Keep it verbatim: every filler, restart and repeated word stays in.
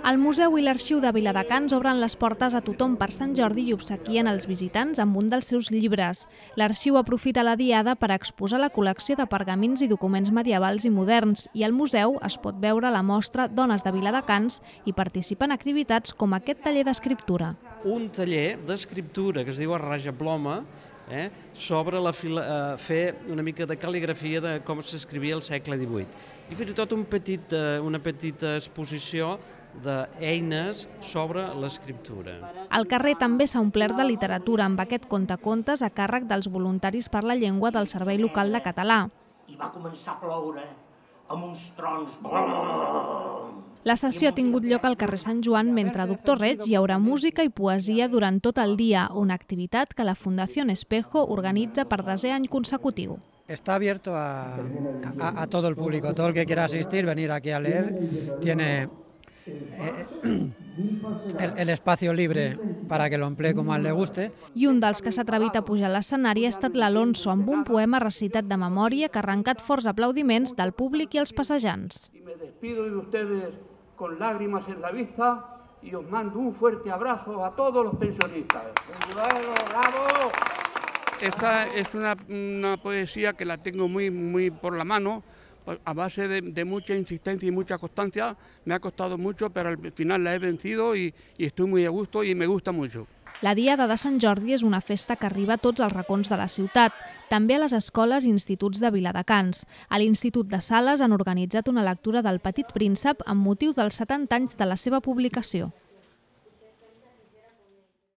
El Museu i l'Arxiu de Viladecans obren les portes a tothom per Sant Jordi i obsequien els visitants amb un dels seus llibres. L'Arxiu aprofita la diada per exposar la col·lecció de pergamins i documents medievals i moderns i al museu es pot veure la mostra Dones de Viladecans i participar en activitats com aquest taller d'escriptura. Un taller d'escriptura que es diu a rajaploma, eh, sobre la fila, eh, fer una mica de cal·ligrafia de com s'escrivia al segle divuit. I fins i tot un petit, eh, una petita exposició d'eines sobre l'escriptura. El carrer també s'ha omplert de literatura amb aquest contacontes a càrrec dels voluntaris per la llengua del Servei Local de Català. I va començar a ploure amb uns trons. La sessió ha tingut lloc al carrer Sant Joan mentre a Doctor Reig hi haurà música i poesia durant tot el dia, una activitat que la Fundació Espejo organitza per desè any consecutiu. Está abierto a, a, a todo el público, todo el que quiera asistir, venir aquí a leer, tiene eh, el, el espacio libre para que lo emplee como a él le guste. I un dels que s'ha atrevit a pujar a l'escenari ha estat l'Alonso, amb un poema recitat de memòria que ha arrencat forts aplaudiments del públic i els passejants. Y me despido de ustedes con lágrimas en la vista y os mando un fuerte abrazo a todos los pensionistas. ¡Bravo! Esta es una, una poesía que la tengo muy, muy por la mano, a base de, de mucha insistencia y mucha constancia. Me ha costado mucho, pero al final la he vencido y, y estoy muy a gusto y me gusta mucho. La Diada de Sant Jordi és una festa que arriba a tots els racons de la ciutat, també a les escoles i instituts de Viladecans. A l'Institut de Sales han organitzat una lectura del Petit Príncep amb motiu dels setanta anys de la seva publicació.